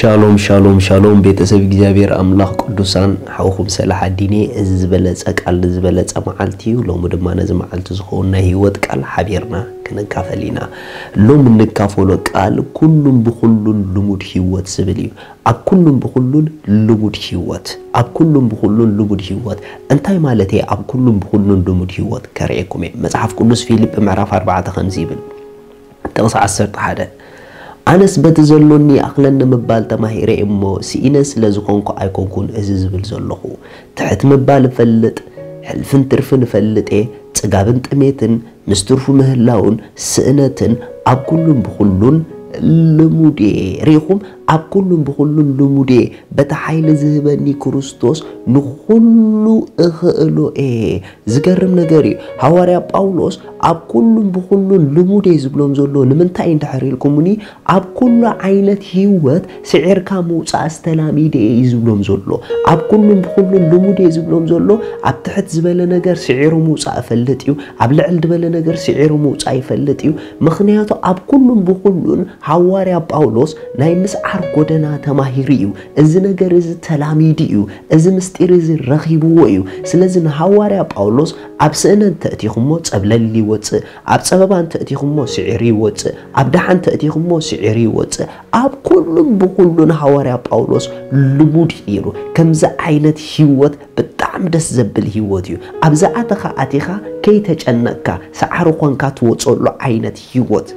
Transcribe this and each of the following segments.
ሻሎም ሻሎም ሻሎም፣ ቤተሰብ እግዚኣብሔር ኣምላኽ ቅዱሳን፣ ሓውኹም ሰላሕ ኣዲኔ። እዚ ዝበለጸ ቃል ንዝበለጸ መዓልቲ እዩ። ሎሚ ድማ ነዚ መዓልቲ ዝኸውን ናይ ህይወት ቃል ሓቢርና ክንካፈል ኢና። ሎሚ እንካፈሎ ቃል ኩሉን ብኹሉን ልሙድ ህይወት ዝብል እዩ። ኣብ ኩሉን ብኹሉን ልሙድ ህይወት፣ ኣብ ኩሉን ብኹሉን ልሙድ ህይወት እንታይ ማለት እየ? ኣብ ኩሉን ብኹሉን ልሙድ ህይወት ከርእየኩም እየ። መጽሓፍ ቅዱስ ፊልጵ ምዕራፍ ኣርባዕተ ከምዚ ይብል፣ ጥቕሲ ዓሰርተ ሓደ፣ ኣነስ በቲ ዘሎኒ ይኣኽለኒ ምባል ተማሂረ እሞ፣ ስኢነ ስለ ዝኾንኩ ኣይኮንኩን እዚ ዝብል ዘለኹ። ትሕት ምባል እፈልጥ፣ ሕልፍን ትርፍን እፈልጥ እየ፣ ጽጋብን ጥሜትን፣ ምስ ትርፉ ምህላውን ስእነትን ኣብ ኩሉን ብኹሉን ልሙድ እየ። ርኢኹም? ኣብ ኩሉን ብኹሉን ልሙድ እየ። በቲ ሓይሊ ዝህበኒ ክርስቶስ ንኹሉ እኽእሎ እየ። ዝገርም ነገር እዩ። ሃዋርያ ጳውሎስ ኣብ ኩሉን ብኹሉን ልሙድ እየ ዝብሎም ዘሎ ንምንታይ እንድሕር ኢልኩምኒ፣ ኣብ ኩሉ ዓይነት ህይወት ስዒርካ ምውጻእ ዝተላሚደ እየ እዩ ዝብሎም ዘሎ። ኣብ ኩሉን ብኹሉን ልሙድ እየ ዝብሎም ዘሎ። ኣብ ትሕት ዝበለ ነገር ስዒሩ ምውጻእ እፈልጥ እዩ። ኣብ ልዕል ዝበለ ነገር ስዒሩ ምውጻእ ይፈልጥ እዩ። ምኽንያቱ ኣብ ኩሉን ብኹሉን ሃዋርያ ጳውሎስ ናይ ምስዓር ጎደና ተማሂሩ እዩ። እዚ ነገር እዚ ተላሚዱ እዩ። እዚ ምስጢር እዚ ረኺብዎ እዩ። ስለዚ ንሃዋርያ ጳውሎስ ኣብ ስእነ እንተእቲኹሞ ጸብለል ይወጽእ፣ ኣብ ጸበባ እንተእቲኹሞ ስዒሩ ይወጽእ፣ ኣብ ደሓን እንተእቲኹሞ ስዒሩ ይወጽእ። ኣብ ኩሉን ብኹሉን ሃዋርያ ጳውሎስ ልሙድ እዩ ነይሩ። ከምዚ ዓይነት ህይወት ብጣዕሚ ደስ ዘብል ህይወት እዩ። ኣብ ዝኣተኻ ኣቲኻ ከይተጨነቕካ ሰዓሪ ኾንካ ትወጸሉ ዓይነት ህይወት።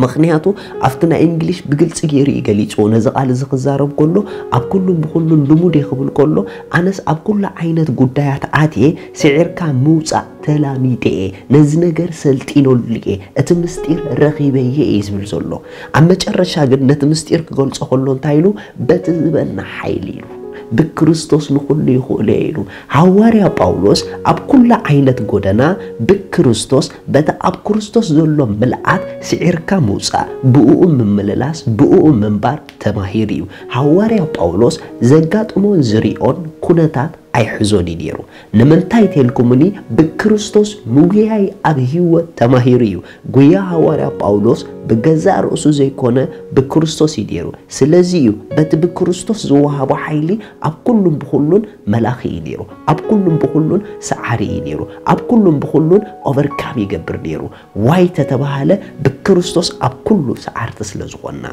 ምኽንያቱ ኣብቲ ናይ እንግሊሽ ብግልጺ ገይሩ እዩ ገሊጽዎ። ነዚ ቃል እዚ ክዛረብ ከሎ ኣብ ኩሉን ብኹሉን ልሙድ እየ ክብል ከሎ፣ ኣነስ ኣብ ኩሉ ዓይነት ጉዳያት ኣትየ ስዒርካ ምውጻእ ተላሚደ እየ። ነዚ ነገር ሰልጢነሉ እየ። እቲ ምስጢር ረኺበዮ እየ ዝብል ዘሎ። ኣብ መጨረሻ ግን ነቲ ምስጢር ክገልጾ ከሎ እንታይ ኢሉ? በቲ ዝበና ሓይሊ ኢሉ። ብክርስቶስ ንኹሉ ይኽእሎ እየ ኢሉ። ሃዋርያ ጳውሎስ ኣብ ኩሉ ዓይነት ጎደና ብክርስቶስ፣ በቲ ኣብ ክርስቶስ ዘሎ ምልኣት ስዒርካ ምውጻእ፣ ብእኡ ምምልላስ፣ ብእኡ ምንባር ተማሂሩ እዩ። ሃዋርያ ጳውሎስ ዘጋጥሞን ዝሪኦን ኩነታት ኣይሕዞን እዩ ነይሩ። ንምንታይ ተልኩምኒ? ብክርስቶስ ምጉያይ ኣብ ህይወት ተማሂሩ እዩ። ጉያ ሃዋርያ ጳውሎስ ብገዛእ ርእሱ ዘይኮነ ብክርስቶስ እዩ ነይሩ። ስለዚ እዩ በቲ ብክርስቶስ ዝወሃቦ ሓይሊ ኣብ ኩሉን ብኹሉን መላኺ እዩ ነይሩ። ኣብ ኩሉን ብኹሉን ሰዓሪ እዩ ነይሩ። ኣብ ኩሉን ብኹሉን ኦቨርካም ይገብር ነይሩ። ዋይ ተተባሃለ ብክርስቶስ ኣብ ኩሉ ሰዓርቲ ስለ ዝኾንና።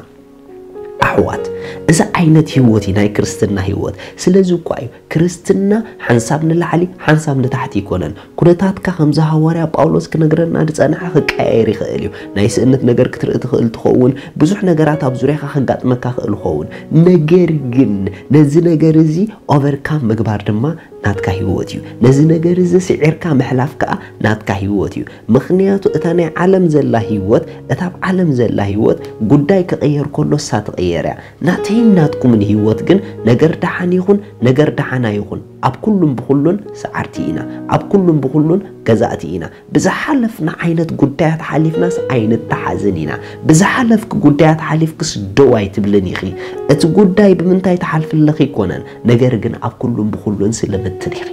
ኣሕዋት፣ እዚ ዓይነት ህይወት እዩ ናይ ክርስትና ህይወት። ስለዚ እኳ እዩ ክርስትና ሓንሳብ ንላዕሊ ሓንሳብ ንታሕቲ ኣይኮነን። ኩነታትካ ከምዚ ሃዋርያ ጳውሎስ ክነግረና ዝጸንሐ ክቀያየር ይኽእል እዩ። ናይ ስእነት ነገር ክትርኢ ትኽእል ትኸውን። ብዙሕ ነገራት ኣብ ዙርያኻ ከጋጥመካ ክእል ይኸውን። ነገር ግን ነዚ ነገር እዚ ኦቨርካም ምግባር ድማ ናትካ ህይወት እዩ። ነዚ ነገር እዚ ስዒርካ ምሕላፍ ከኣ ናትካ ህይወት እዩ። ምኽንያቱ እታ ናይ ዓለም ዘላ ህይወት፣ እታ ኣብ ዓለም ዘላ ህይወት ጉዳይ ክቕየር ከሎ እሳ ትቕየር እያ። ናተይን ናትኩምን ህይወት ግን ነገር ደሓን ይኹን ነገር ደሓን ኣይኹን ኣብ ኩሉን ብኹሉን ሰዓርቲ ኢና። ኣብ ኩሉን ብኹሉን ገዛእቲ ኢና። ብዝሓለፍና ዓይነት ጉዳያት ሓሊፍናስ ኣይንተሓዝን ኢና። ብዝሓለፍኪ ጉዳያት ሓሊፍክስ ደው ኣይትብልን ኢኺ። እቲ ጉዳይ ብምንታይ ትሓልፊ ኣለኺ ኣይኮነን፣ ነገር ግን ኣብ ኩሉን ብኹሉን ስልምቲ ዲኺ?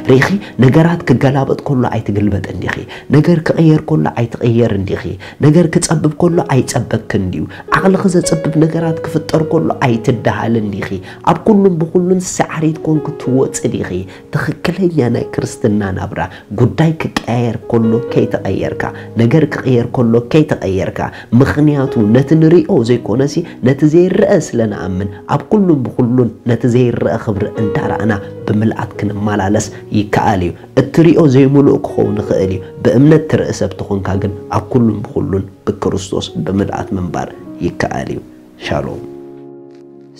ርኢኺ፣ ነገራት ክገላበጥ ከሎ ኣይትግልበጥን ዲኺ? ነገር ክቕየር ከሎ ኣይትቕየርን ዲኺ? ነገር ክጸብብ ከሎ ኣይጸበክን ድዩ? ዓቕልኺ ዘጸብብ ነገራት ክፍጠር ከሎ ኣይትደሃልን ዲኺ? ኣብ ኩሉን ብኹሉን ሰዓሪት ኮንኪ ትወጺ ዲኺ? ትኽክለኛ ናይ ክርስትና ናብራ፣ ጉዳይ ክቀያየር ከሎ ከይተቐየርካ፣ ነገር ክቕየር ከሎ ከይተቐየርካ። ምኽንያቱ ነቲ ንሪኦ ዘይኮነሲ ነቲ ዘይረአ ስለ ንኣምን፣ ኣብ ኩሉን ብኹሉን ነቲ ዘይረአ ክብሪ እንዳረኣና ብምልኣት ክንመላለስ ይከኣል እዩ። እትሪኦ ዘይምሉእ ክኸውን ይኽእል እዩ። ብእምነት ትርኢ ሰብ ተኾንካ ግን ኣብ ኩሉን ብኹሉን ብክርስቶስ ብምልኣት ምንባር ይከኣል እዩ። ሻሎም።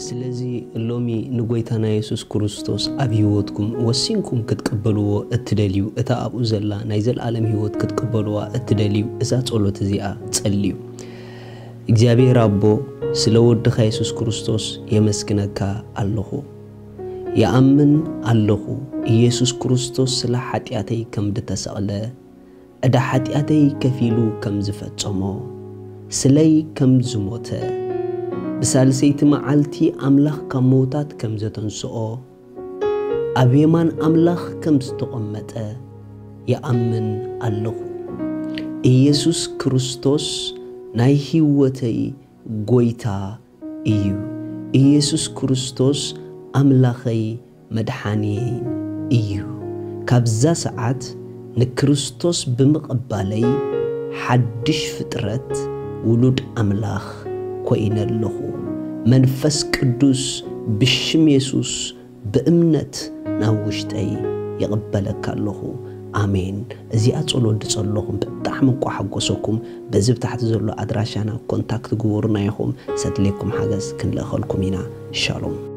ስለዚ ሎሚ ንጎይታና የሱስ ክርስቶስ ኣብ ህይወትኩም ወሲንኩም ክትቅበልዎ እትደልዩ፣ እታ ኣብኡ ዘላ ናይ ዘለኣለም ህይወት ክትቅበልዋ እትደልዩ፣ እዛ ጸሎት እዚኣ ጸልዩ። እግዚኣብሔር ኣቦ፣ ስለ ወድኻ የሱስ ክርስቶስ የመስግነካ ኣለኹ። ይኣምን ኣለኹ፣ ኢየሱስ ክርስቶስ ስለ ሓጢኣተይ ከም ዝተሰቕለ፣ ዕዳ ሓጢኣተይ ከፊሉ ከም ዝፈጸሞ፣ ስለይ ከም ዝሞተ፣ ብሳልሰይቲ መዓልቲ ኣምላኽ ካብ ምዉታት ከም ዘተንስኦ፣ ኣብ የማን ኣምላኽ ከም ዝተቐመጠ ይኣምን ኣለኹ። ኢየሱስ ክርስቶስ ናይ ህይወተይ ጐይታ እዩ። ኢየሱስ ክርስቶስ ኣምላኸይ መድሓንየይን እዩ። ካብዛ ሰዓት ንክርስቶስ ብምቕባለይ ሓድሽ ፍጥረት ውሉድ ኣምላኽ ኮይነ ኣለኹ። መንፈስ ቅዱስ ብሽም የሱስ ብእምነት ናብ ውሽጠይ ይቕበለካ ኣለኹ። ኣሜን። እዚኣ ጸሎት ድጸለኹም ብጣዕሚ እንቋ ሓጎሰኩም። በዚ ብታሕቲ ዘሎ ኣድራሻና ኮንታክት ግበሩና ኢኹም። ሰድሌኩም ሓገዝ ክንልእኸልኩም ኢና። ሻሎም።